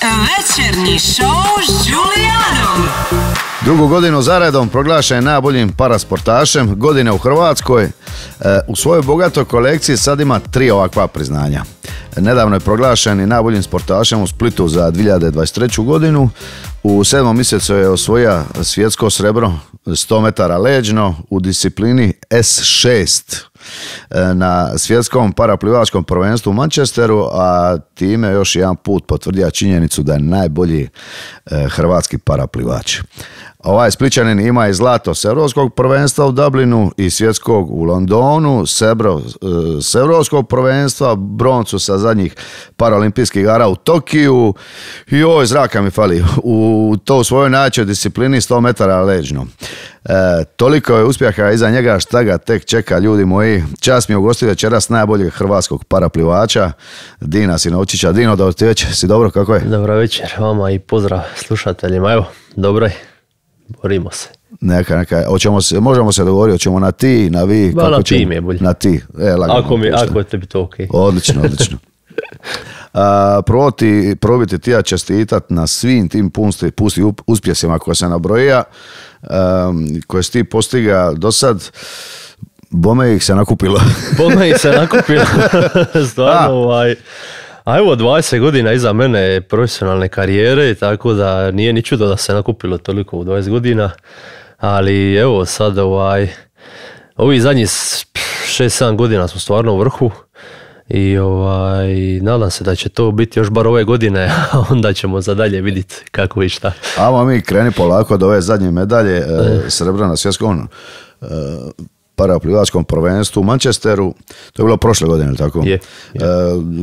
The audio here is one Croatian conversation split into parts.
Večernji šou s Đulijanom. Drugu godinu zaredom proglašen je najboljim parasportašem godine u Hrvatskoj. U svojoj bogatoj kolekciji sad ima 3 ovakva priznanja. Nedavno je proglašen i najboljim sportašem u Splitu za 2023. godinu. U 7. mjesecu je osvojio svjetsko srebro 100 metara leđno u disciplini S6 na svjetskom paraplivačkom prvenstvu u Manchesteru, a time još jedan put potvrdio činjenicu da je najbolji hrvatski paraplivač. Ovaj Splićanin ima i zlato s europskog prvenstva u Dublinu i svjetskog u Londonu, srebro s europskog prvenstva, broncu sa zadnjih paraolimpijskih igara u Tokiju i oj, zraka mi fali, u to svojoj najjačoj disciplini 100 metara leđno. Toliko je uspjeha iza njega, šta ga tek čeka, ljudi moji. Čast mi je ugostiti večeras najboljeg hrvatskog paraplivača Dina Sinovčića. Dino, dobro ti večer, si dobro, kako je? Dobro večer vama i pozdrav slušateljima. Evo, dobro je, borimo se. Neka, možemo se dogovoriti, hoćemo na ti, na vi. Ba, na ti mi je bolje. Na ti, ako je tebi to okej. Odlično. Probiti ti ja čestitat na svim tim pusti uspjesima koje se nabrojija, koje si ti postiga do sad. Bome ih se nakupilo. Stvarno, a evo 20 godina iza mene profesionalne karijere, tako da nije ni čudo da se nakupilo toliko u 20 godina, ali evo sad ovi zadnjih 6-7 godina smo stvarno u vrhu i nadam se da će to biti još bar ove godine, a onda ćemo za dalje vidjeti kako i šta. Amo mi kreni polako od ove zadnje medalje, srebra na svjetskom paraplivačkom prvenstvu u Manchesteru, to je bilo prošle godine, ili tako? Je.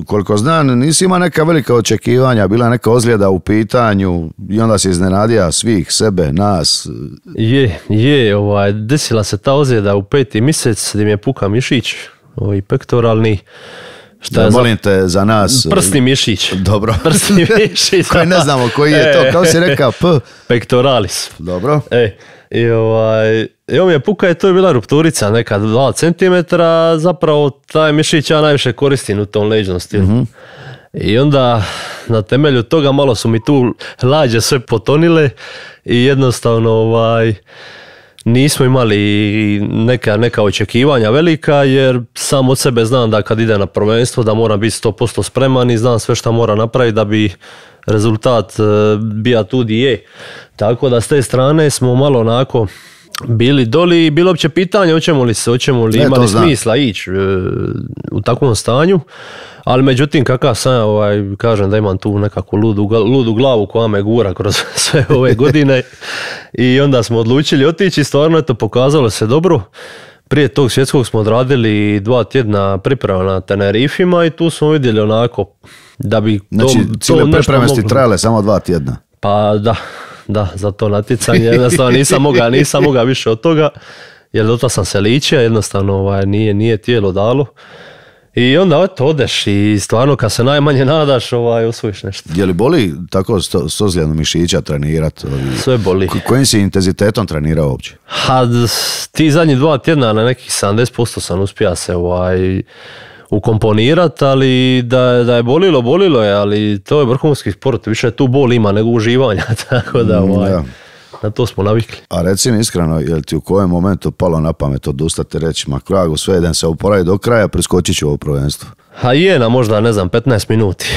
Koliko znam, nisi ima neka velika očekivanja, bila neka ozljeda u pitanju i onda se iznenadio svih, sebe, nas. Desila se ta ozljeda u 5. mjesec gdje mi je puka mišić, pektoralni. Molim te za nas. Prsni mišić. Dobro. Prsni mišić. Koji ne znamo koji je to, kao si rekao, pectoralis. Dobro. Evo mi je puka, to je bila rupturica neka 2 cm, zapravo taj mišić ja najviše koristim u tom leđnom stilu. I onda na temelju toga malo su mi tu lađe sve potonile i jednostavno nismo imali neka očekivanja velika, jer sam od sebe znam da kad ide na prvenstvo da moram biti 100% spreman i znam sve što mora napraviti da bi rezultat bio tu di je. Tako da s te strane smo malo onako bili doli i bilo uopće pitanje hoćemo li imali smisla ići u takvom stanju, ali međutim kakav sam kažem da imam tu nekakvu ludu glavu koja me gura kroz sve ove godine i onda smo odlučili otići, stvarno pokazalo se dobro. Prije tog svjetskog smo odradili 2 tjedna priprema na Tenerifima i tu smo vidjeli onako da bi cijele pripreme ste trajale samo 2 tjedna? Pa da, za to natjecanje jednostavno nisam mogao više od toga, jer do tada sam se ličio, jednostavno nije tijelo dalo. I onda odeš i stvarno kad se najmanje nadaš osvojiš nešto. Je li boli tako s ozljedom mišića trenirati? Sve boli. Kojim si intenzitetom trenirao uopće? Ti zadnjih 2 tjedna na nekih 70% sam uspio se ukomponirati, ali da je bolilo je, ali to je vrhunski sport, više tu bol ima nego uživanja, tako da na to smo navikli. A reci mi iskreno, je li ti u kojem momentu palo na pamet odustati reći, ma kragu, sve jedan se oporavi do kraja, preskočit ću ovo prvenstvo? Na možda, 15 minuti.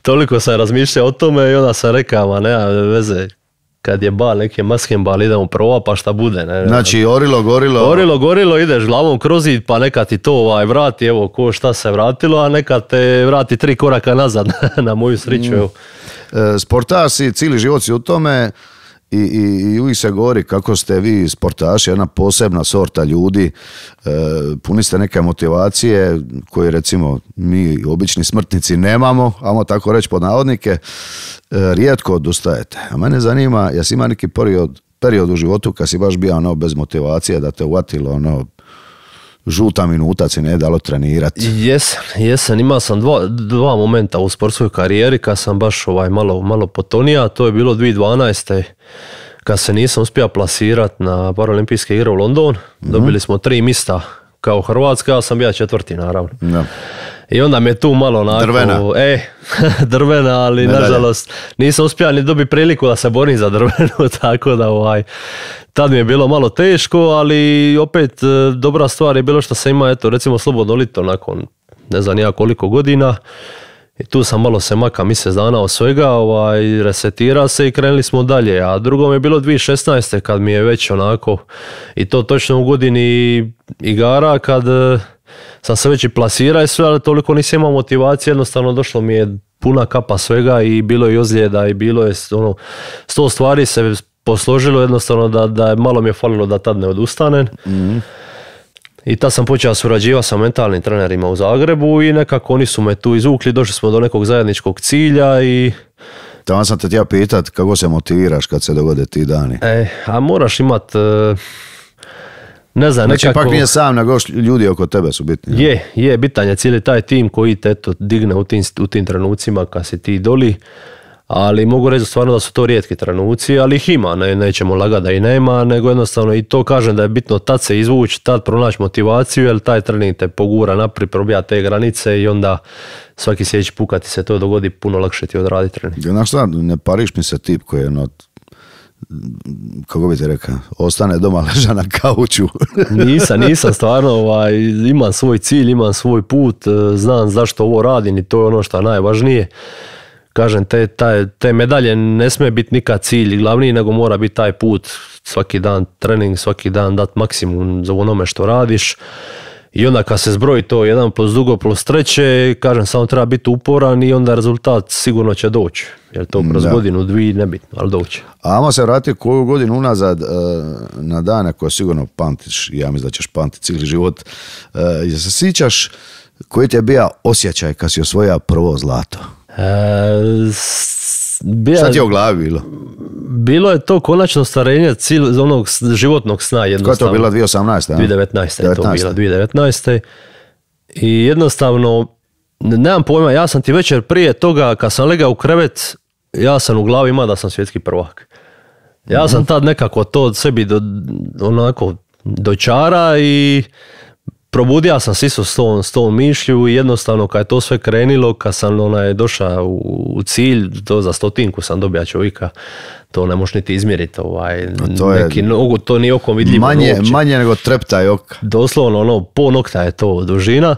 Toliko sam razmišljao o tome i onda sam rekao, ma nema veze, kad je neki maskenbal, idemo prvo, pa šta bude. Znači, gorilo, ideš glavom kroz zid, pa neka ti to vrati, evo, ko šta se vratilo, a neka te vrati 3 koraka nazad, na moju sreću. Sportaš si, cijeli život si u tome i uvijek se govori kako ste vi sportaši, jedna posebna sorta ljudi, puni ste neke motivacije koje recimo mi obični smrtnici nemamo, ajmo tako reći pod navodnike, rijetko odustajete. A mene zanima, jesi ima neki period u životu kad si baš bio bez motivacije, da te uvatilo žuta minuta si ne dalo trenirati? Jesam, imao sam 2 momenta u sportskoj karijeri kad sam baš malo potonija, to je bilo 2012. kad se nisam uspio plasirati na paraolimpijske igre u London. Dobili smo 3 mjesta kao Hrvatska, ja sam bio 4. naravno. I onda mi je tu malo onako... Drvena. Drvena, ali Medalje. nažalost nisam uspio ni dobiti priliku da se borim za drvenu, tako da tad mi je bilo malo teško, ali opet dobra stvar je bilo što sam imao, eto, recimo slobodno lito nakon ne znam ja koliko godina. I tu sam malo se maka mjesec dana od svega, resetira se i krenuli smo dalje. A drugo mi je bilo 2016. kad mi je već onako, i to točno u godini igara, kad sam se već i plasirao i sve, ali toliko nisam imao motivacije, jednostavno došlo mi je puna kapa svega i bilo je ozljeda i bilo je 100 stvari se posložilo jednostavno da malo mi je falilo da tad ne odustanem. I tad sam počeo surađivati sa mentalnim trenerima u Zagrebu i nekako oni su me tu izvukli, došli smo do nekog zajedničkog cilja i... Tamo sam te htio pitat kako se motiviraš kad se dogode ti dani. A moraš imat, ne znam, znači, nekako... Znači, nije sam, nego ljudi oko tebe su bitni. Je, bitan je cijeli taj tim koji te eto digne u tim trenucima kad si ti doli. Ali mogu reći stvarno da su to rijetki trenuci, ali ih ima, nećemo lagati da i nema, nego jednostavno i to kažem da je bitno tad se izvući, tad pronaći motivaciju, jer taj trening te pogura naprijed, probija te granice i onda svaki sljedeći put kad ti se to dogodi puno lakše ti odraditi trening. Znaš šta, ne pariš mi se tip koji je kako bi ti rekao, ostane doma leža na kauču. Nisam stvarno, imam svoj cilj, imam svoj put, znam zašto ovo radim i to je ono što je najvažnije. Kažem, te medalje ne smije biti nikad cilj glavni, nego mora biti taj put, svaki dan trening, svaki dan dati maksimum za onome što radiš. I onda kad se zbroji to 1+2+3, kažem, samo treba biti uporan i onda rezultat sigurno će doći. Jer to kroz godinu, dvije, nebitno, ali doći. A ajmo se vratiti koju godinu unazad na dane koje sigurno pamtiš, ja mislim da ćeš pamtiti cijeli život. Jel se sjećaš koji ti je bio osjećaj kad si osvojio prvo zlato? Šta ti je u glavi bilo? Bilo je to konačno starenje onog životnog sna jednostavno. Koja je to bila 2018? 2019. je to bila, 2019. I jednostavno, nemam pojma, ja sam ti večer prije toga, kad sam legao u krevet, ja sam u glavi imao da sam svjetski prvak. Ja sam tad nekako to sebi onako dočara i probudio sam se isto s tom mišlju i jednostavno kad je to sve krenilo, kad sam došao u cilj, to za 100-tinku sam dobija čovjeka, to ne možeš niti izmjeriti. To nije okom vidljivo. Manje nego treptaj oka. Doslovno, po nokta je to dužina.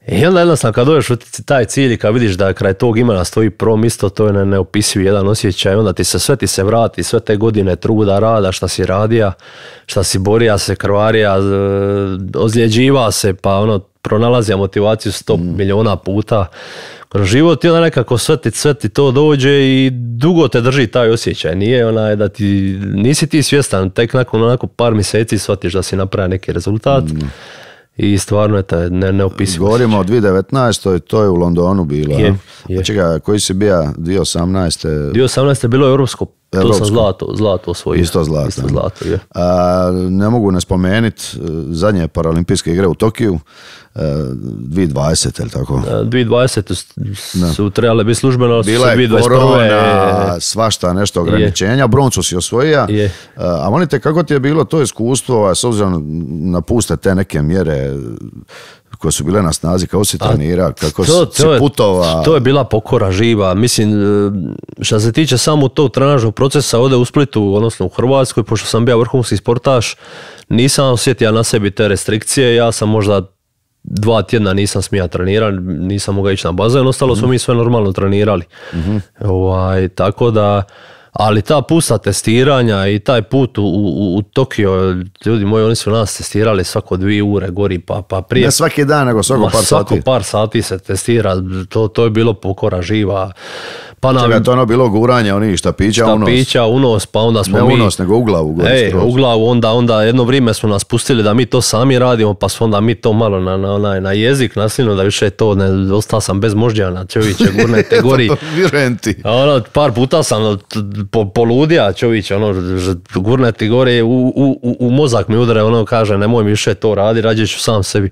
I onda jednostavno kad dođeš u taj cilj i kad vidiš da kraj tog imena stoji prvo mjesto, to je neopisiv jedan osjećaj. Onda ti se vrati, sve te godine truda, rada, šta si radija, šta si borija se, krvarija, ozljeđiva se, pa pronalazija motivaciju 100 miliona puta kroz život i onda nekako sve ti to dođe i dugo te drži taj osjećaj. Nije da nisi ti svjestan, tek nakon par mjeseci shvatiš da si napravio neki rezultat. I stvarno je to neopisivo. Govorimo o 2019. To je u Londonu bilo. Je. Čekaj, koji si bio 2018. 2018. je bilo europsko. To sam zlato osvojio. Isto zlato. Je. Ne mogu ne spomenuti zadnje paralimpijske igre u Tokiju. 2020, je li tako? 2020 su trebale biti službeno, ali su 2021. Bila je korona, svašta nešto ograničenja, broncu si osvojio. A molite, kako ti je bilo to iskustvo, s obzirom na puste te neke mjere koje su bile na snazi, kako si trenirao, kako si putovao? To je bila pokora živa. Mislim, što se tiče samo tog trenažnog procesa ovdje u Splitu, odnosno u Hrvatskoj, pošto sam bio vrhunski sportaš, nisam osjetio na sebi te restrikcije. Ja sam možda 2 tjedna nisam smija trenirati, nisam mogao ići na bazen, ostalo smo mi sve normalno trenirali. Tako da, ali ta pusta testiranja i taj put u Tokio, ljudi moji, oni su nas testirali svako 2 ure gori, pa prije... Ne svaki dan, nego svako par sati. Svako par sati se testira, to je bilo pokora živa. Čega je to bilo guranje onih štapića u nos? Štapića u nos, pa onda smo ne u nos, nego u glavu. U glavu, onda jedno vrijeme smo nas pustili da mi to sami radimo, pa smo onda mi to malo na jezik nasilno, da više to ne, ostao sam bez moždjana, čovječe, gurnete gori. Par puta sam poludija, čovječe, gurneti gore, u mozak mi udare, kaže, nemoj mi više to radi, rađe ću sam sebi.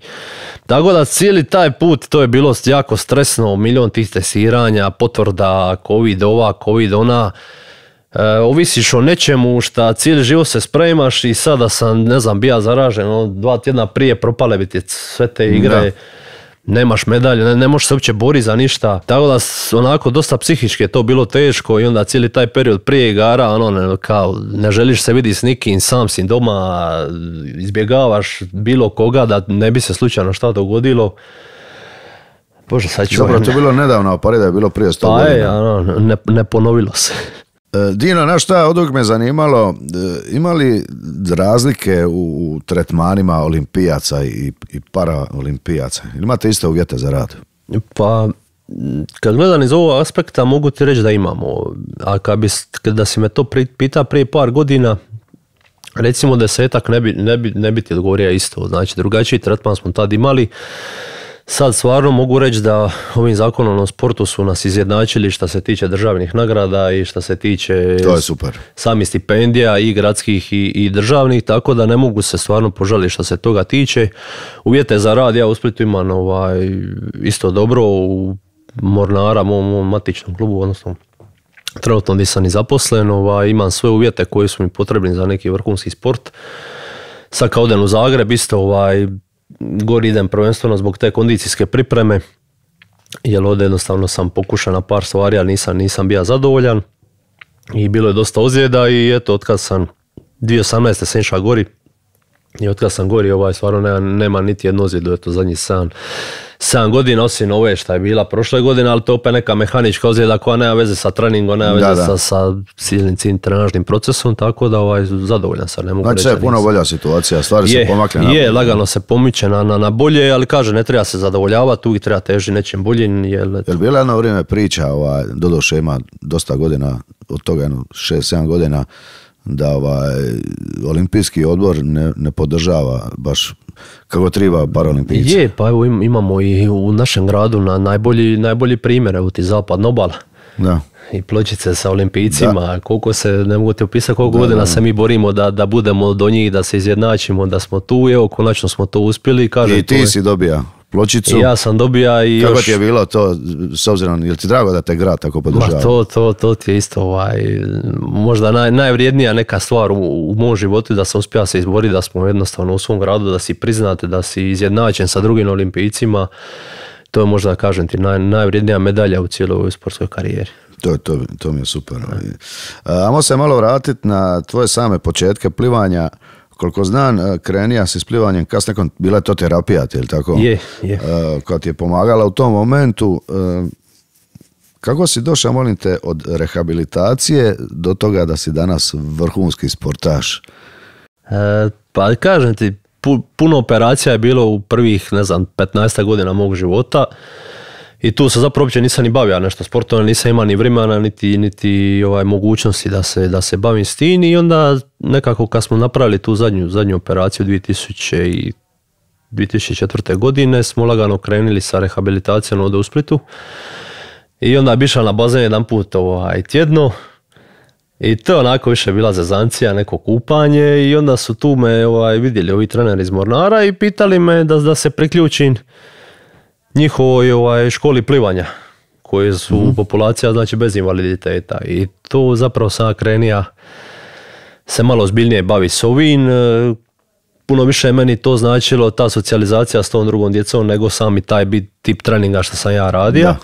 Tako da cijeli taj put, to je bilo jako stresno, milion tih testiranja, potvrda, covid ova, covid ona, ovisiš o nečemu šta cijeli život se spremaš i sada sam, ne znam, bija zaražen, 2 tjedna prije propale bi ti sve te igre. nemaš medalje, ne možeš se uopće boriti za ništa. Tako da onako dosta psihički je to bilo teško i onda cijeli taj period prije igara, kao ne želiš se vidjeti s nikim, sam si doma, izbjegavaš bilo koga da ne bi se slučajno šta dogodilo. Bože, sad ću... Zapravo to je bilo nedavno, a da je bilo prije 100 godina. Ne ponovilo se. Dino, znaš šta, od uvijek me zanimalo, ima li razlike u tretmanima olimpijaca i paraolimpijaca? Imate iste uvjete za rad? Pa, kad gledam iz ovog aspekta, mogu ti reći da imamo. A da si me to pita prije par godina, recimo 10 ne bi ti odgovorio isto. Znači, drugačiji tretman smo tad imali. Sad stvarno mogu reći da ovim zakonom o sportu su nas izjednačili što se tiče državnih nagrada i što se tiče samih stipendija i gradskih i državnih, tako da ne mogu se stvarno požaliti što se toga tiče. Uvjete za rad ja u Splitu imam isto dobro u Mornara, mom matičnom klubu, odnosno trenutno nisam ni zaposlen, imam sve uvjete koji su mi potrebni za neki vrhunski sport. Sad kad odem u Zagreb isto gori idem prvenstveno zbog te kondicijske pripreme, jer ovdje jednostavno sam pokušao na par stvari, ali nisam bio zadovoljan i bilo je dosta ozljeda i eto, otkad sam 2018. sam išao gori i otkad sam gori stvarno nema niti jednu ozljedu, eto zadnjih 7 godina, osim ove šta je bila prošle godine, ali to opet neka mehanička ozljeda koja nema veze sa treningom, nema veze sa cijelim trenažnim procesom, tako da zadovoljan sam, ne mogu reći. Znači je puno bolja situacija, stvari se pomakle na bolje. Je, lagano se pomiče na bolje, ali kaže, ne treba se zadovoljavati, uvijek treba težiti nečim boljim. Jel bila jedno vrijeme priča, doduše ima dosta godina, od toga 6-7 godina, da olimpijski odbor ne podržava baš kako treba paraolimpijce. Je, pa evo imamo i u našem gradu najbolji primjer, evo ti Zapadna obala. Da. I pločice sa olimpijcima, koliko se, ne mogu ti opisati koliko godina se mi borimo da budemo do njih, da se izjednačimo, da smo tu, evo konačno smo to uspjeli. I ti si dobija pločicu. I ja sam dobija i kako ti je bilo to, s obzirom, je li ti drago da te grad tako podržava? To ti je isto možda najvrijednija neka stvar u mom životu, da sam uspio se izboriti, da smo jednostavno u svom gradu, da si priznate, da si izjednačen sa drugim olimpijcima. To je možda, kažem ti, najvrijednija medalja u cijeloj ovoj sportskoj karijeri. To mi je super. Ajmo se malo vratiti na tvoje same početke plivanja. Koliko znam, krenija si s plivanjem, kasnije bila je to terapija, je li tako? Je. Koja ti je pomagala u tom momentu. Kako si došao, molim te, od rehabilitacije do toga da si danas vrhunski sportaš? Pa kažem ti, puno operacija je bilo u prvih, 15 godina mog života. I tu se zapravo uopće nisam ni bavio nešto sportom, nisam imao ni vremena, niti mogućnosti da se bavim s tim. I onda nekako kad smo napravili tu zadnju operaciju 2004. godine smo lagano krenuli sa rehabilitacijom ovdje u Splitu. I onda bi išao na bazen jedan put tjedno. I to onako više bila zezancija, neko kupanje i onda su tu me vidjeli ovi treneri iz Mornara i pitali me da se priključim njihovoj školi plivanja koje su populacija znači bez invaliditeta i to zapravo sam krenija se malo ozbiljnije bavi s ovim. Puno više je meni to značilo ta socijalizacija s tom drugom djecom nego sami taj tip treninga što sam ja radio. Da.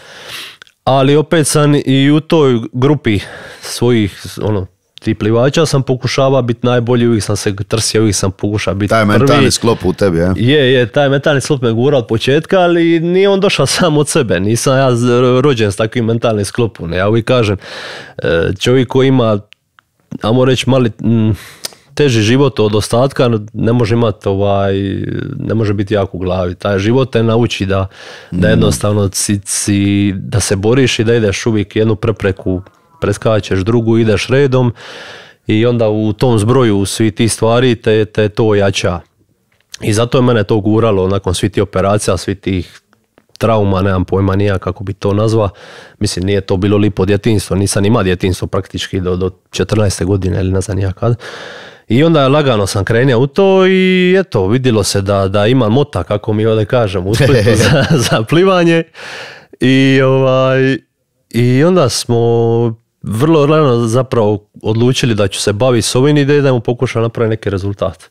Ali opet sam i u toj grupi svojih tih plivača sam pokušavao biti najbolji, uvijek sam se trsio, uvijek sam pokušao biti prvi. Taj mentalni sklop u tebi, je? Je, taj mentalni sklop me gura od početka, ali nije on došao sam od sebe. Nisam ja rođen s takvim mentalnim sklopom. Ja uvijek kažem, čovjek koji ima, ajmo reći, mali teži život od ostatka, ne može imati ne može biti jak u glavi. Taj život te nauči da jednostavno da se boriš i da ideš uvijek jednu prepreku, preskačeš drugu, ideš redom i onda u tom zbroju svi ti stvari te to jača. I zato je mene to guralo nakon svih tih operacija, svih tih trauma, nemam pojma nija kako bi to nazva. Mislim, nije to bilo lipo djetinjstvo, nisam imao djetinjstvo praktički do 14. godine ili ne znam nija kad. I onda lagano sam krenio u to i eto, vidjelo se da imam mota, kako mi ovdje kažem, u Splitu za plivanje. I onda smo vrlo rano zapravo odlučili da ću se baviti s ovim i da idemo pokušati napraviti neki rezultat.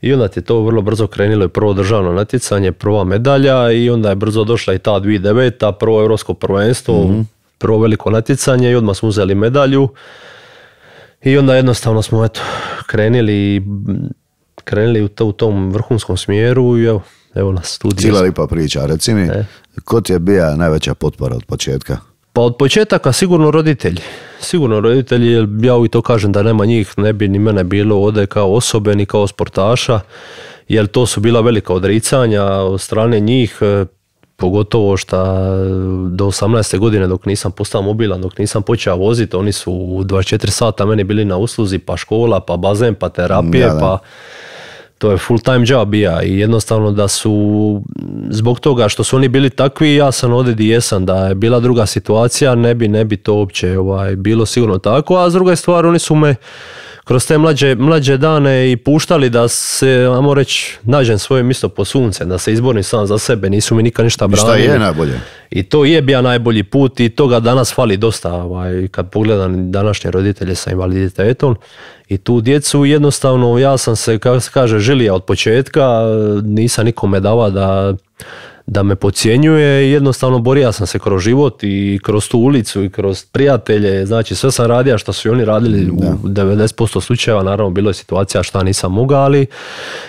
I onda ti je to vrlo brzo krenulo i prvo državno natjecanje, prva medalja i onda je brzo došla i ta 2009. Prvo europsko prvenstvo, prvo veliko natjecanje i odmah smo uzeli medalju. I onda jednostavno smo krenuli u tom vrhunskom smjeru i evo nas tu. Cijela lipa priča, reci mi, ko ti je bija najveća potpora od početka? Pa od početaka sigurno roditelji. Sigurno roditelji, jer ja uvijek to kažem da nema njih, ne bi ni mene bilo ovdje kao osobe, ni kao sportaša, jer to su bila velika odricanja od strane njih, pogotovo što do 18. godine dok nisam postao mobilan, dok nisam počeo voziti, oni su 24 sata meni bili na usluzi, pa škola, pa bazen, pa terapije, pa to je full time job bija i jednostavno da su, zbog toga što su oni bili takvi, ja sam ovdje gdje jesam, da je bila druga situacija, ne bi to uopće bilo sigurno tako, a s druge stvari oni su me kroz te mlađe dane i puštali da se, ajmo reći, nađem svoje mjesto po sunce, da se izborim sam za sebe, nisu mi nikad ništa branili. I šta je najbolje? I to je bio najbolji put i toga danas fali dosta, kad pogledam današnje roditelje sa invaliditetom i tu djecu, jednostavno ja sam se, kako se kaže, želija od početka, nisam nikome davao da me podcjenjuje, jednostavno borio sam se kroz život i kroz tu ulicu i kroz prijatelje, znači sve sam radio što su i oni radili u 90% slučajeva, naravno bilo je situacija šta nisam mogao, ali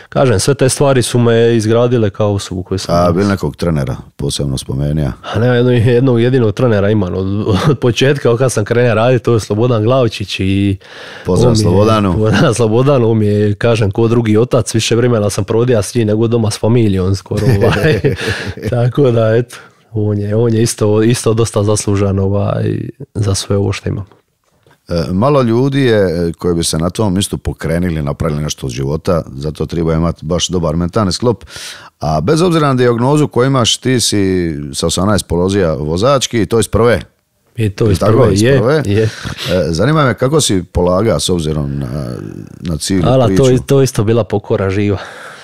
kažem, sve te stvari su me izgradile kao osobu koju sam. A bil nekog trenera posebno spomenija? A ne, jednog jedinog trenera imam od početka, kad sam krenuo raditi, to je Slobodan Glavčić i pozdrav Slobodanu. Slobodanu, on mi je, kažem, ko drugi otac, više vremena sam provodio s njim nego doma s familijom skoro. Tako da, eto, on je isto dosta zaslužan za sve ovo što imam. Malo ljudi je koji bi se na tom mjestu pokrenili, napravili nešto od života, zato treba imati baš dobar mentalni sklop. A bez obzira na dijagnozu koju imaš, ti si sa 18 polozija vozački, to iz prve. I to iz prve, je. Zanima me kako si polaga s obzirom na cijelu priču. To isto bila pokora živa.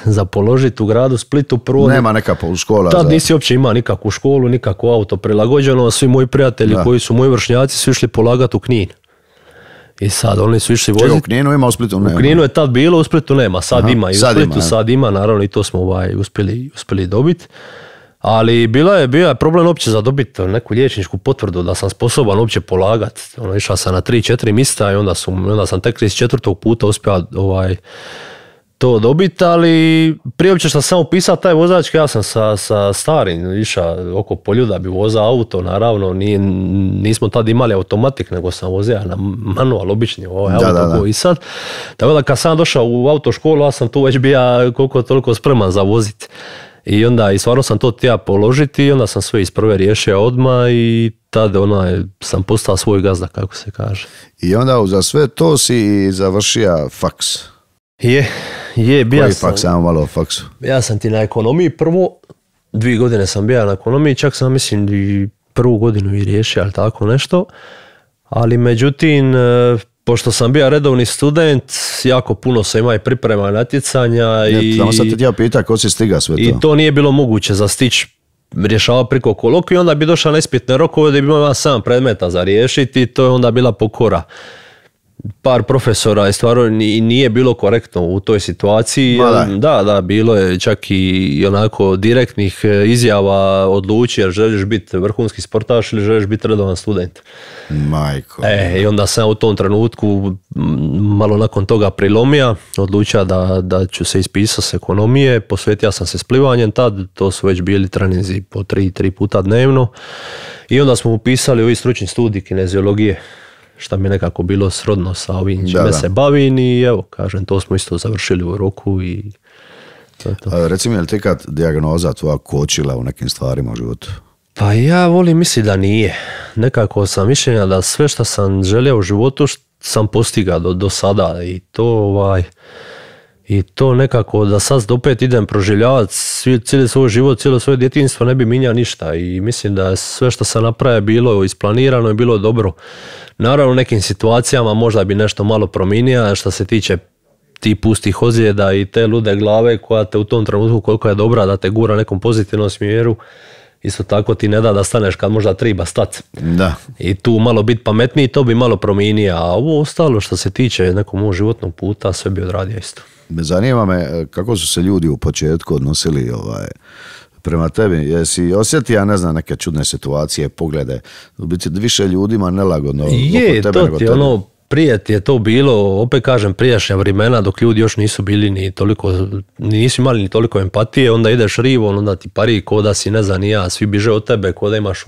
Za položiti u gradu Splitu prvo. Nema neka škola. Tad nisi uopće imao nikakvu školu, nikakvo auto prilagođeno, a svi moji prijatelji koji su moji vršnjaci su išli polagati u Knin. I sad oni su išli voziti. U Kninu ima, u Splitu nema. U Kninu je tad bilo, u Splitu nema, sad ima. I u Splitu sad ima, naravno i to smo uspjeli dobiti. Ali bio je problem uopće za dobiti neku liječničku potvrdu da sam sposoban uopće polagati. Išao sam na 3-4 mjesta i onda sam tek 34. puta uspio to dobiti, ali prije uopće što sam upisao taj vozački, ja sam sa starim išao oko polju da bi vozao auto, naravno nismo tad imali automatik, nego sam vozio na manual, obični auto koji sad. Tako da kad sam došao u autoškolu, ja sam tu već bio koliko toliko spreman za voziti. I onda i stvarno sam to htio položiti i onda sam sve iz prve riješio odmah i tada sam postao svoj gazda, kako se kaže. I onda za sve to si završio faks. Koji faks, samo malo o faksu? Ja sam ti na ekonomiji prvo, 2 godine sam bio na ekonomiji, čak sam mislim i prvu godinu i riješio, ali tako nešto. Ali međutim, pošto sam bio redovni student, jako puno sam imao i priprema natjecanja. Samo sad te ja pita ko si stiga sve to. I to nije bilo moguće za stić rješava preko kolokvija, onda bi došao na ispitne rokove da bi imao 7 predmeta za riješiti i to je onda bila pokora. Par profesora je stvarno nije bilo korektno u toj situaciji. Da, bilo je čak i onako direktnih izjava odluči jer želiš biti vrhunski sportaš ili želiš biti redovan student. Majko. I onda sam u tom trenutku malo nakon toga prilomija, odlučio da ću se ispisati s ekonomije, posvetio sam se s plivanjem tad, to su već bili treninzi po 3 puta dnevno i onda smo upisali ovi stručni studij kineziologije, šta mi je nekako bilo srodno sa ovim čime se bavim i evo, kažem, to smo isto završili u roku i to je to. Reci mi, je li ti kad dijagnoza tvoja kočila u nekim stvarima u životu? Pa ja volim misliti da nije. Nekako sam mišljenja da sve što sam želio u životu sam postigao do sada i to nekako da sad opet idem proživljavati cijeli svoj život, cijelo svoje djetinjstvo ne bi mijenjao ništa i mislim da sve što sam napravio bilo isplanirano i bilo dobro. Naravno u nekim situacijama možda bi nešto malo promijenio što se tiče ti pustih ozljeda i te lude glave koja te u tom trenutku koliko je dobra da te gura nekom pozitivnom smjeru isto tako ti ne da staneš kad možda treba stati. Da. I tu malo biti pametniji, to bi malo promijenio, a ovo ostalo što se tiče nekog mog životnog puta, sve bi odradio isto. Zanima me kako su se ljudi u početku odnosili prema tebi. Jesi osjetio, ne znam, neke čudne situacije, poglede, u biti više ljudima nelagodno je, oko tebe nego ti tebe? Prije ti je to bilo, opet kažem, prijašnja vremena dok ljudi još nisu bili ni toliko, nisu imali ni toliko empatije, onda ideš rivo, onda ti pari ko da si, ne znam ni ja, svi biže od tebe, ko da imaš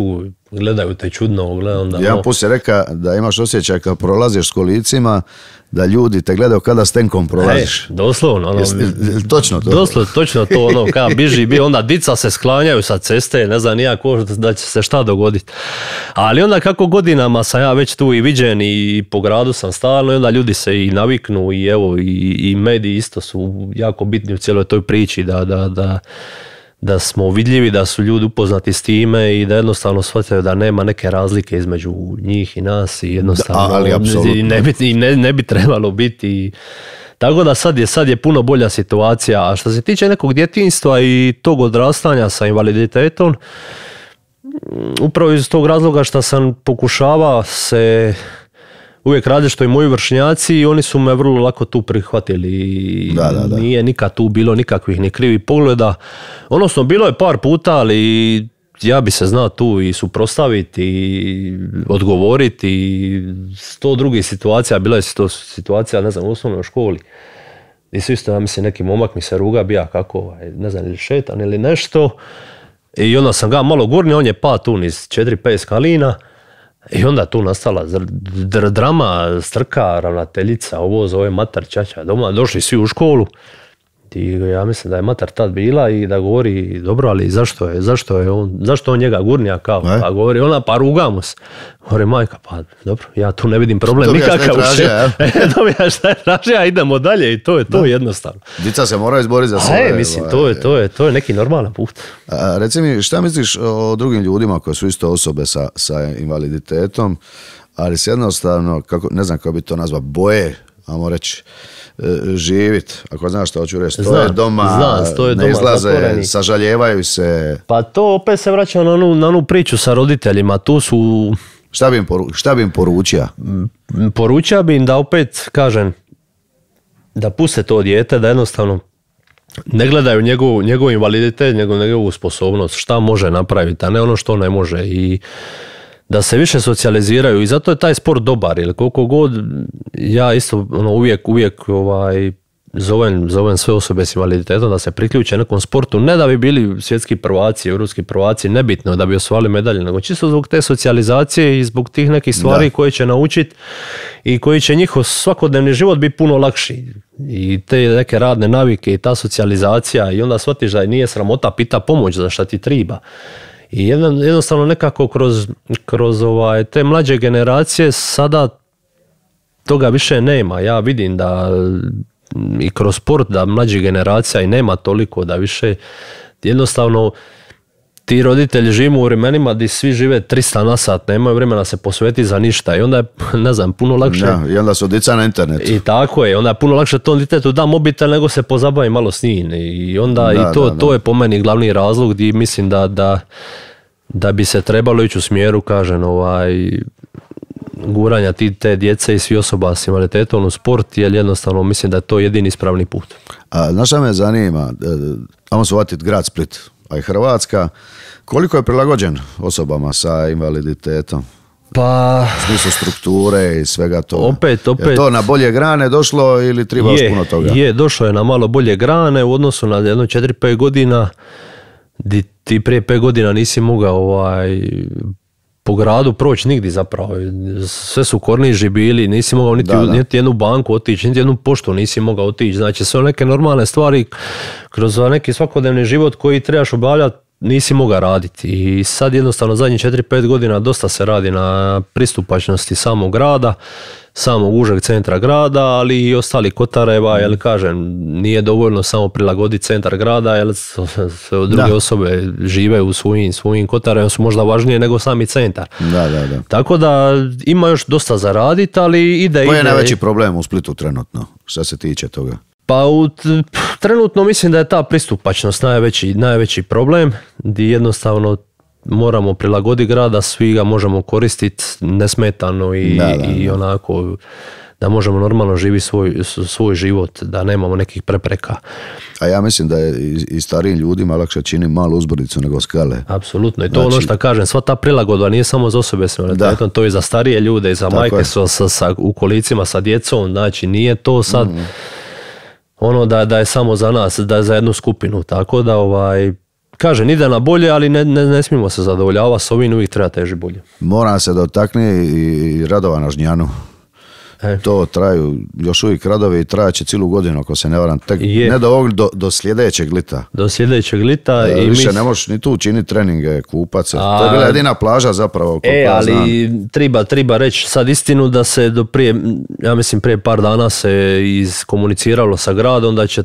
gledaju te čudno, onda... Jedan put si rekao da imaš osjećaj kad prolaziš s kolicima, da ljudi te gledaju kada s tenkom prolaziš. Doslovno. Točno to? Doslovno, točno to, kada biži, onda dica se sklanjaju sa ceste, ne znam nija ko da će se šta dogoditi. Ali onda kako godinama sam ja već tu i viđen i po gradu sam stalno, i onda ljudi se i naviknu i evo, i mediji isto su jako bitni u cijeloj toj priči, da smo vidljivi, da su ljudi upoznati s time i da jednostavno shvataju da nema neke razlike između njih i nas i jednostavno ne bi trebalo biti. Tako da sad je puno bolja situacija. A što se tiče nekog djetinjstva i tog odrastanja sa invaliditetom, upravo iz tog razloga što sam pokušavao se uvijek radi što i moji vršnjaci i oni su me vrlo lako tu prihvatili. Da. Nije nikad tu bilo nikakvih ni krivih pogleda. Odnosno, bilo je par puta, ali ja bi se znao tu i suprotstaviti i odgovoriti i 100 drugih situacija. Bila je to situacija, ne znam, u osnovnoj školi. I su isto, ja mislim, neki momak mi se ruga, bija kako, ne znam, ili šetan ili nešto. I onda sam ga malo gurnio, on je pa tu niz 4-5 skalina. I onda tu nastala drama, strka, ravnateljica, ovo zove mater, čača, doma, došli svi u školu. I ja mislim da je mater tad bila i da govori, dobro, ali zašto on njega gurnija kao? Pa govori ona, pa rugamo se. Govori majka, pa dobro, ja tu ne vidim problem nikakav. Dobijaš šta je tražio, a idemo dalje i to je to jednostavno. Dica se mora izboriti za svoje. Mislim, to je neki normalan put. Reci mi, šta misliš o drugim ljudima koji su isto osobe sa invaliditetom, ali se jednostavno, ne znam kako bi to nazvao, boje, ajmo reći, živit, ako znaš što hoću reći, stoje doma, ne izlaze, zatvoreni. Sažaljevaju se. Pa to opet se vraća na onu priču sa roditeljima, tu su... Šta bi im poručio? Poručio bi im da opet, kažem, da puste to dijete, da jednostavno ne gledaju njegov invaliditet, njegovu sposobnost, šta može napraviti, a ne ono što ne može i da se više socijaliziraju i zato je taj sport dobar, jer koliko god ja isto uvijek zovem sve osobe s invaliditetom da se priključe nekom sportu, ne da bi bili svjetski prvaci, europski prvaci, nebitno da bi osvojili medalje, nego čisto zbog te socijalizacije i zbog tih nekih stvari koje će naučiti i koji će njihov svakodnevni život biti puno lakši. I te neke radne navike i ta socijalizacija i onda shvatiš da nije sramota pita pomoć za šta ti treba. I jednostavno nekako kroz te mlađe generacije sada toga više nema. Ja vidim da i kroz sport da mlađih generacija i nema toliko, da više jednostavno ti roditelji živimo u vremenima gdje svi žive 300 na sat, nemaju vremena se posvetiti za ništa i onda je, ne znam, puno lakše. Ja, i onda su djeca na internetu. I tako je, onda je puno lakše tom djetetu da mobitel nego se pozabavi malo s njim. I onda to je po meni glavni razlog gdje mislim da bi se trebalo ići u smjeru, kažem, guranja te djece i svi osoba s invaliditetom u sport, jer jednostavno mislim da je to jedini ispravni put. Znaš šta me zanima, ajmo se vatiti grad Split, a i Hrvatska, koliko je prilagođen osobama sa invaliditetom? Pa... U smislu strukture i svega toga. Opet. Je to na bolje grane došlo ili treba još puno toga? Došlo je na malo bolje grane u odnosu na jedno 4-5 godina, di ti prije 5 godina nisi mogao po gradu proći nigdje zapravo. Sve su korniži bili, nisi mogao niti jednu banku otići, niti jednu poštu nisi mogao otići. Znači sve neke normalne stvari kroz neki svakodnevni život koji trebaš obavljati nisi mogao raditi. I sad jednostavno zadnjih 4-5 godina dosta se radi na pristupačnosti samog grada, samog užeg centra grada, ali i ostali kotareva, jer kažem, nije dovoljno samo prilagoditi centar grada, jer druge osobe žive u svojim kotarevima, su možda važnije nego sami centar. Da. Tako da ima još dosta za raditi, ali ide. Koji je najveći problem u Splitu trenutno, što se tiče toga? Pa trenutno mislim da je ta pristupačnost najveći problem, gdje jednostavno moramo prilagoditi grad da svi ga možemo koristiti nesmetano i onako da možemo normalno živjeti svoj život, da nemamo nekih prepreka. A ja mislim da je i starijim ljudima lakše čini malu uzbrdicu nego skale. Apsolutno, i to ono što kažem, sva ta prilagodba nije samo za osobe s invaliditetom, to je za starije ljude i za majke u kolicima sa djecom, znači nije to sad ono da je samo za nas, da je za jednu skupinu, tako da kažem, ide na bolje, ali ne smijemo se zadovoljavati s ovim, uvijek treba teži bolje. Moram se dotakni i radova na Žnjanu. To traju još uvijek radovi i trajaće cijelu godinu, ako se ne varam, tek ne do ovog, do sljedećeg lita. Do sljedećeg lita. Više ne možeš ni tu učiniti treninge, kupat se. To je bila jedina plaža zapravo. Ali treba reći sad istinu da se do prije, ja mislim prije par dana se iskomuniciralo sa gradom da će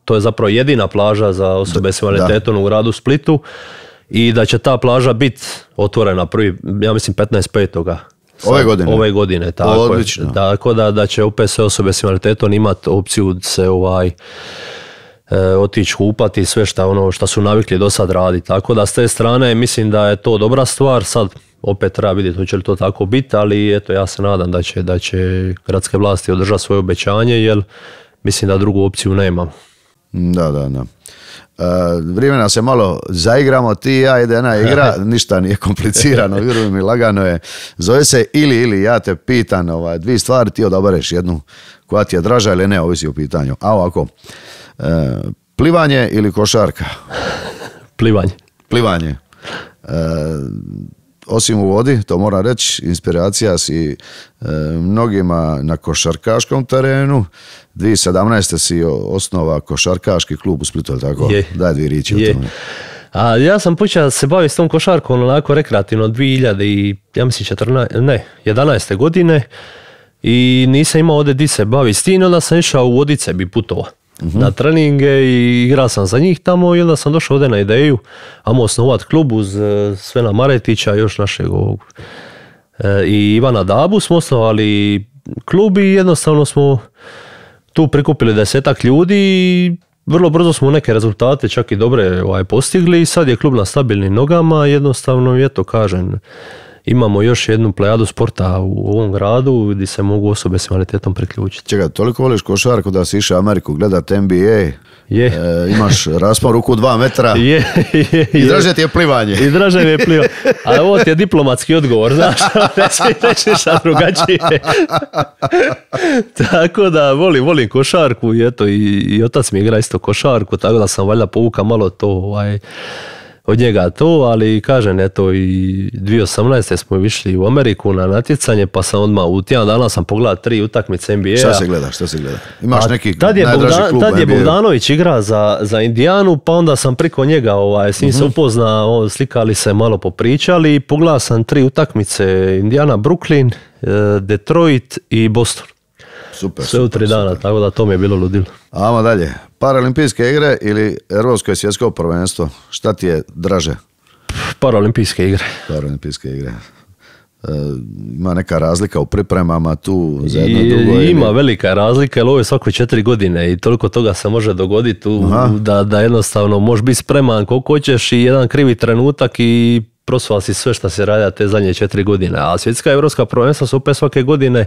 to je zapravo jedina plaža za osobe s invaliditetom u gradu Splitu i da će ta plaža biti otvorena prvi, ja mislim 15.5. Ove godine, tako je. Tako da će opet sve osobe s invaliditetom imati opciju se otići kupati i sve što su navikli do sad raditi. Tako da s te strane mislim da je to dobra stvar. Sad opet treba vidjeti hoće li to tako biti, ali eto ja se nadam da će gradske vlasti održati svoje obećanje, jer mislim da drugu opciju nemamo. Da. Vremena se malo zaigramo, ti i ja, ide jedna igra, ništa nije komplicirano, vjeruj mi, lagano je. Zove se ili, ja te pitan dvije stvari, ti odabereš jednu koja ti je draža ili ne, ovisi o pitanju. A ovako, plivanje ili košarka? Plivanje. Osim u vodi, to moram reći, inspiracija si mnogima na košarkaškom terenu. 2017. si osnova košarkaški klub u Splitu, tako? Daj dvije riječi o tome. A ja sam počeo se baviti s tom košarkom onako rekreativno 2011. godine i nisam imao ovdje di se baviti s tim, onda sam išao u Vodice bi putovao na treninge i igrao sam za njih tamo i onda sam došao ovdje na ideju ajmo osnovati klub uz Svena Maretića, još našeg i Ivana Dabu smo osnovali klub i jednostavno smo tu prikupili 10-ak ljudi i vrlo brzo smo neke rezultate čak i dobre postigli i sad je klub na stabilnim nogama, jednostavno eto kažem imamo još jednu plejadu sporta u ovom gradu gdje se mogu osobe s invaliditetom priključiti. Čekaj, toliko voliš košarku da si išao u Ameriku gledat NBA, imaš raspon ruku 2 metra i draže ti je plivanje. I draže mi je plivanje. A ovo ti je diplomatski odgovor, znaš, ne smiješ reći šta drugačije. Tako da volim košarku i eto i otac mi igra isto košarku, tako da sam valjda povukao malo to od njega to, ali kažem, eto i 2018. smo išli u Ameriku na natjecanje, pa sam odmah u tjedan dana sam pogledao 3 utakmice NBA. Šta se gleda? Imaš neki najdraži klub NBA? Tad je Bogdanović igra za Indijanu, pa onda sam priko njega s njim se upoznao, slikali se, malo popričali i pogledao sam 3 utakmice, Indijana, Brooklyn, Detroit i Boston. Super, sve u 3 dana, tako da to mi je bilo ludilo. Ajmo dalje. Paraolimpijske igre ili Europsko i svjetsko prvenstvo? Šta ti je draže? Paraolimpijske igre. Paraolimpijske igre. Ima neka razlika u pripremama tu za jedno drugo? Ima velika razlika, jer ovo je svako 4 godine i toliko toga se može dogoditi da jednostavno možeš biti spreman koliko hoćeš i jedan krivi trenutak i prosvala si sve što se radi te zadnje 4 godine. A svjetska i evropska prvenstva su opet svake godine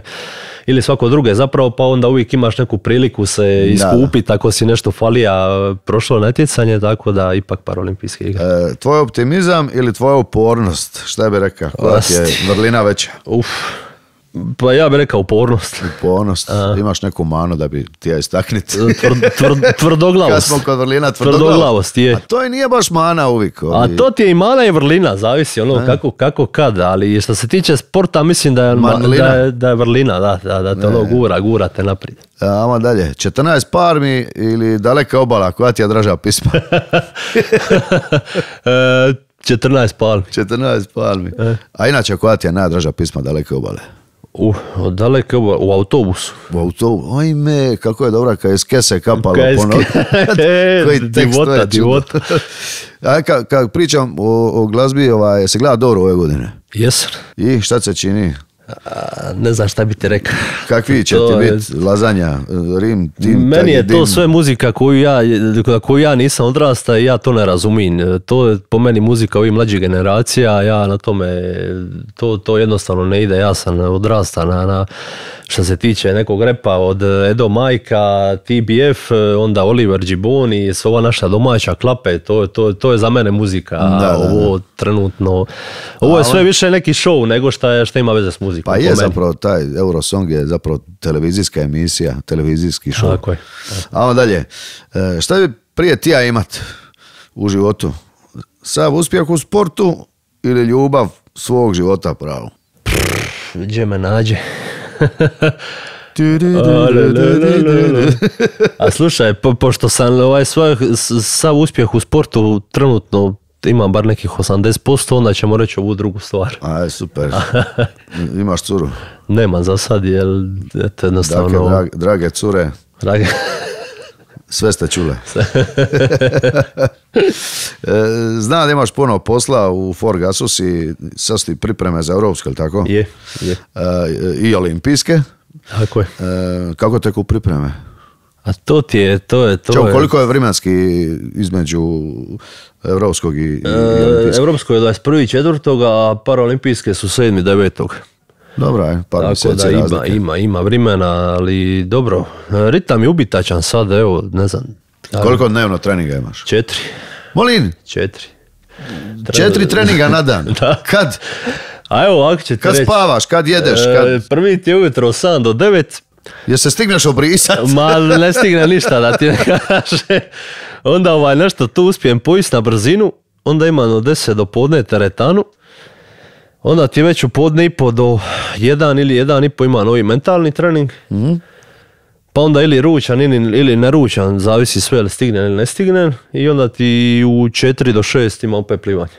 ili svako druge zapravo, pa onda uvijek imaš neku priliku se iskupiti ako si nešto falija prošlo natjecanje, tako da ipak paraolimpijske igre. Tvoj optimizam ili tvoja upornost? Šta bi rekao? Koja ti je vrlina veća? Pa ja bih rekao upornost. Upornost. Imaš neku manu da bi ti ja istakniti? Tvrdoglavost. Kad smo kod vrlina, tvrdoglavost je. A to i nije baš mana uvijek. A to ti je i mana i vrlina, zavisi kako kad. Ali što se tiče sporta, mislim da je vrlina, da te gura te naprijed. Ajmo dalje. 14 Palmi ili Daleka obala? Koja ti je draža pisma? 14 Palmi. 14 Palmi. A inače, koja ti je najdraža pisma Daleke obale? Daleke obale, u autobusu. U autobusu, ojme, kako je dobra kad je s kese kapalo po nogu. Divota. Kad pričam o glazbi, se gleda dobro ove godine? Jesam. I šta se čini? Ne znam šta bi ti rekao. Kakvi će ti biti lazanja, rim, tim, meni je to sve muzika koju ja nisam odrasta i ja to ne razumijem. To je po meni muzika ovih mlađih generacija, ja na tome, to jednostavno ne ide. Ja sam odrasta na što se tiče nekog repa od Edo Majka, TBF, onda Oliver Gibboni, ova naša domaća klape, to je za mene muzika. Ovo trenutno, ovo je sve više neki show nego šta ima veze s muzikom. Pa je zapravo taj Eurosong je zapravo televizijska emisija, televizijski show. Tako je. A onda dalje, šta bi prije tija imat u životu? Sav uspjeh u sportu ili ljubav svog života pravo? Gdje me nađe? A slušaj, pošto sam sav uspjeh u sportu trenutno imam bar nekih 80%, onda ćemo reći ovu drugu stvar. Aj, super. Imaš curu? Nemam za sad, jer jednostavno... Dakle, drage cure, sve ste čule. Znam da imaš puno posla u Forgasus i sad su ti pripreme za europske, ili tako? Je. I olimpijske. Tako je. Kako teku pripreme? A to je... Koliko je vremenski između evropskog i olimpijskog? Evropsko je 21.4. a paraolimpijske su 7.9. Dobro je, par mjeseci razlike. Ima vremena, ali dobro. Ritam je ubitačan sad, evo, ne znam. Koliko dnevno treninga imaš? 4. Molim? 4 treninga na dan? Da. Kad? A evo, ako ćete kad reći. Kad spavaš, kad jedeš? Prvi ti je ujutro od 7 do 9. Jer se stigneš obrisat? Ma ne stigne ništa da ti ne kaže. Onda nešto tu uspijem pojist na brzinu. Onda imam od 10 do podne teretanu. Onda ti već u podne i po do 1 ili 1,5 ima novi mentalni trening. Pa onda ili ručan ili neručan, zavisi sve ili stignem ili ne stignem. I onda ti u 4 do 6 ima opet plivanje.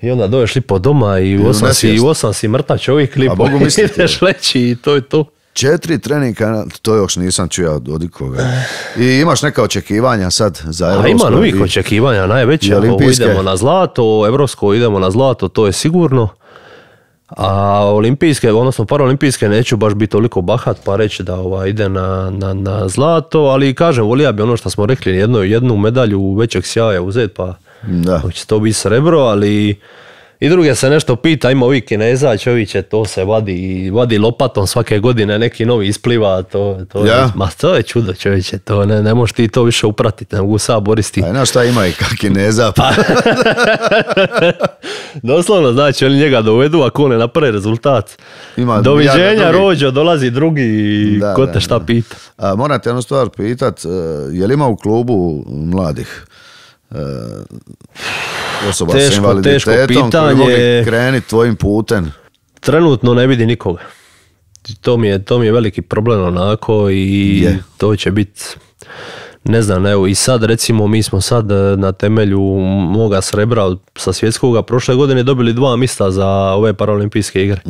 I onda doješ lipo doma i u 8 si mrtav čovjek lipo ideš leći i to je to. 4 treninga, to još nisam čuo od ikoga. I imaš neka očekivanja sad za evropsko? Ima novih očekivanja, najveće. Idemo na zlato, evropsko idemo na zlato, to je sigurno. A olimpijske, odnosno paraolimpijske neću baš biti toliko bahat pa reći da ide na zlato, ali kažem, volija bi ono što smo rekli, jednu medalju većeg sjaja uzeti, pa će to biti srebro, ali i druge se nešto pita, ima ovih Kineza, čovječe, to se vadi lopatom svake godine, neki novi ispliva, to je čudo, čovječe, to ne možeš ti to više upratiti, ne mogu sad boristi. A znaš šta ima i kak Kineza? Doslovno, znači, oni njega dovedu, ako ne napravi rezultat. Doviđenja, Rođo, dolazi drugi i ko te šta pita. Moram te jednu stvar pitat, je li ima u klubu mladih osoba s invaliditetom koji mogu krenuti tvojim putem? Trenutno ne vidi nikoga. To mi je veliki problem onako i to će biti, ne znam, evo i sad recimo mi smo sad na temelju moga srebra sa svjetskoga prošle godine dobili 2 mjesta za ove paraolimpijske igre,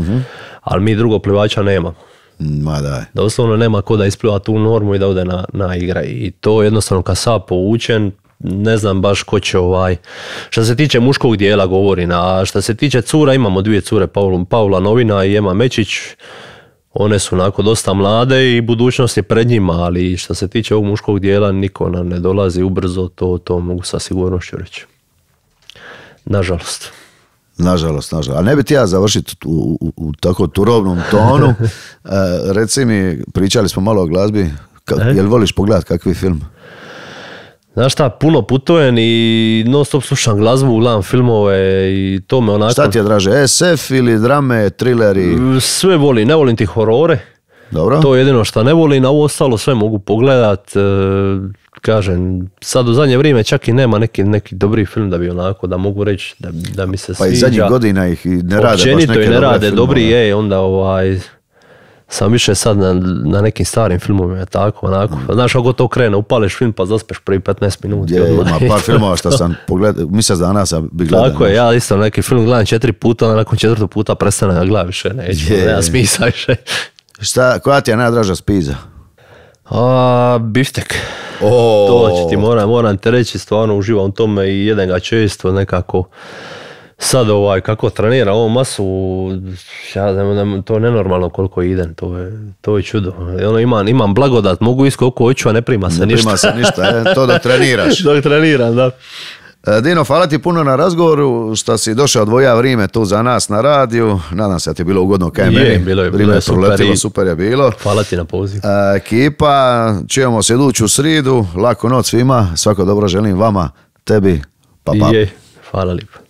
ali mi drugog plivača nemamo. Ma daj. Doslovno nema ko da ispliva tu normu i da ode na igre i to jednostavno kad sad povučen, ne znam baš ko će što se tiče muškog dijela govorim, a što se tiče cura imamo 2 cure, Paula Novina i Ema Mečić, one su onako dosta mlade i budućnost je pred njima, ali što se tiče ovog muškog dijela niko nam ne dolazi ubrzo, to mogu sa sigurnošću reći. Nažalost. Nažalost. A ne bi ti ja završiti u tako turovnom tonu. Reci mi, pričali smo malo o glazbi, jel voliš pogledat kakvi film? Znaš šta, puno putujem i non stop slušam glazbu, gledam filmove i to me onako... Šta ti je draže, SF ili drame, trileri? Sve volim, ne volim ti horore. Dobro. To je jedino što ne volim, a ovo ostalo sve mogu pogledat. Kažem, sad u zadnje vrijeme čak i nema neki dobri film da bi onako, da mogu reći da mi se sviđa. Pa i zadnjih godina ih i ne rade baš neke dobre filmove. ne rade dobri, onda sam više sad na nekim starim filmovima, tako, onako. Znaš, ako to krene, upališ film pa zaspeš prvi 15 minuta. Ima par filmova što sam pogledao, mjesec dana sam bi gledao. Tako je, ja isto neki film gledam 4 puta, onda nakon 4. puta prestane da gledam više, nema smisla više. Koja ti je najdraža spiza? Biftek. To ću ti moram te reći, stvarno uživam u tome i jedem ga često nekako. sad kako trenira ovu masu, to je nenormalno koliko idem, to je čudo. Imam blagodat, mogu ići koliko hoću, a ne prima se ništa. Ne prima se ništa, to dok treniraš. Dok treniram, da. Dino, hvala ti puno na razgovoru, što si došao odvoja vrijeme tu za nas na radiju. Nadam se da ti je bilo ugodno kaj meni. Bilo je super, super je bilo. Hvala ti na poziv. Ekipa, čujemo se iduću sridu. Laku noć svima, svako dobro želim vama, tebi, pa. Hvala lijepo.